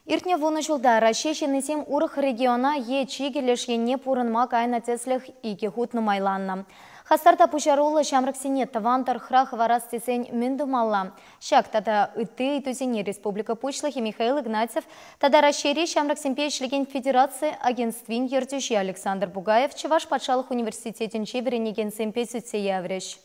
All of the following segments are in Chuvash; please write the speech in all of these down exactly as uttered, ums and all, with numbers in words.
Иртнӗ вунӑ ҫулта Раҫҫей ҫыннисем урӑх региона е чикӗ леш енне пурӑнма кайнӑ тӗслӗх икӗ хут нумайланнӑ. Хастар та пуҫаруллӑ ҫамрӑксене тӑван тӑрӑхра хӑварас тесен мӗн тумалла? Ҫак тата ытти ыйтусене Республика Пуҫлӑхӗ Михаил Игнатьев тата Раҫҫейри ҫамрӑксемпе ӗҫлекен федераци агентствин ертӳҫи Александр Бугаев Чӑваш патшалӑх университетӗнче вӗренекенсемпе сӳтсе яврӗҫ.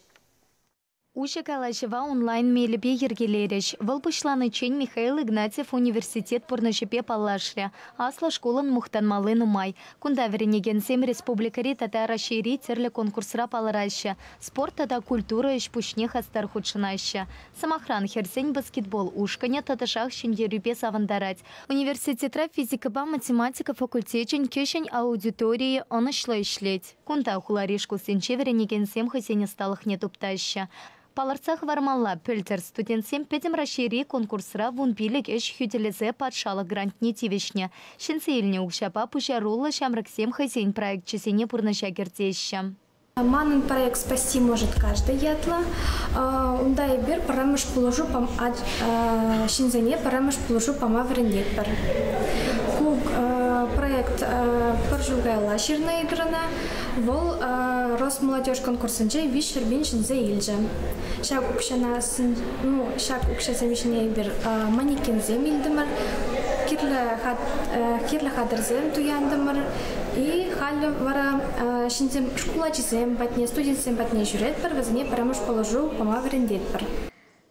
Уҫӑ калаҫӑва онлайн мелӗпе йӗркелерӗҫ. Вӑл пуҫланиччен Михаил Игнатьев университет пурнӑҫӗпе паллашрӗ. Аслӑ шкулӑн мухтанмалли нумай. Кунта вӗренекенсем республикӑри тата Раҫҫейри тӗрлӗ конкурсра палӑраҫҫӗ. Спорт тата культура ӗҫ-пуҫне хастар хутшӑнаҫҫӗ. Сӑмахран, хӗрсен баскетбол ушкӑнӗ тӑтӑшах ҫӗнтерӳпе савӑнтарать. Университетра физикӑпа математика факультечӗн кӗҫӗн аудиторийӗ ӑнӑҫлӑ ӗҫлет. Кунта хулари шкулсенче вӗренекенсем хӑйсен ӑсталӑхне туптаҫҫӗ. Палӑртса хӑвармалла, пӗлтӗр студентсем Пӗтӗм Раҫҫейри конкурсра вун пилӗк ӗҫ хӳтӗлесе патшалӑх грантне тивӗҫнӗ. Ҫӗнсе илнӗ укҫапа пуҫаруллӑ ҫамрӑксем хӑйсен проекчӗсене пурнӑҫа кӗртеҫҫӗ. Манӑн проект «Спасти может каждый» ятлӑ. Унта эпир пӗрремӗш пулӑшу ҫынсене пӗрремӗш пулӑшу пама вӗрентетпӗр. Ку проект пӗр ҫул каялла ҫырнӑ эпир ӑна. Вӑл Росмолодежь конкурсӗнче виҫ пин ҫӗнсе илчӗ. Ҫак укҫана, ну, ҫак укҫасем ҫине эпир манекенсем илтӗмӗр, кирлӗ хатӗрсем туянтӑмӑр. И халӗ вара ҫынсем шкул ачисем патне, студентсем патне ҫӳретпӗр, вӗсене пӗрремӗш пулӑшу пама вӗрентетпӗр.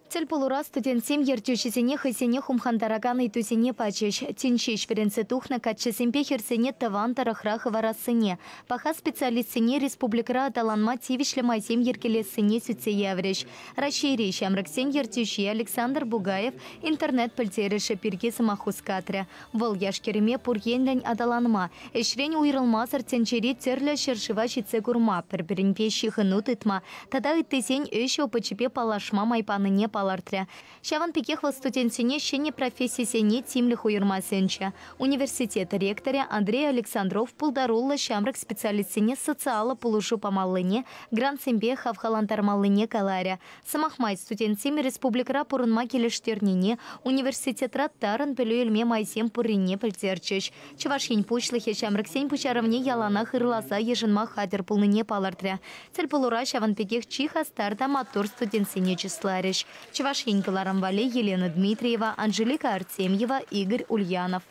Тӗл пулура студентсем ертӳҫӗсене хӑйсене хумхантаракан ыйтусене пачӗҫ. Тин ҫеҫ вӗренсе тухнӑ каччӑсемпе хӗрсене тӑван тӑрӑхра хӑварассине, паха специалистсене республикӑра аталанма тивӗҫлӗ майсем йӗркелессине сӳтсе яврӗҫ. Раҫҫейри ҫамрӑксен ертӳҫи Александр Бугаев интернет пӗлтерӗшӗ пирки сӑмах хускатрӗ. Вӑл яш-кӗрӗме пур енлӗн аталанма, ӗҫрен уйрӑлмасӑр тӗнчери тӗрлӗ ҫӗршыва ҫитсе курма, пӗр-пӗринпе ҫыхӑну тытма тата ыттисен ӗҫ опычӗпе паллашма май панине палӑртрӗ. Ҫавӑн пекех вӑл студентсене ҫӗнӗ профессисене тимлӗх уйӑрма сӗнчӗ. Университет ректорӗ Андрей Александров пултаруллӑ ҫамрӑк специалистсене социаллӑ пулӑшу памаллине, грантсемпе хавхалантармаллине каларӗ. Сӑмах май, студентсем республикӑра пурӑнма килӗштернине, университетра тарӑн пӗлӳ илме майсем пуррине пӗлтерчӗҫ. Чӑваш Ен Пуҫлӑхӗ ҫамрӑксен пуҫарӑвне яланах ырласа йышӑнма хатӗр пулнине палӑртрӗ. Тӗл пулура ҫавӑн пекех чи хастар та маттур студентсене чысларӗҫ. Чӑваш Ен кӑларӑм валли Елена Дмитриева, Анжелика Артемьева, Игорь Ульянов.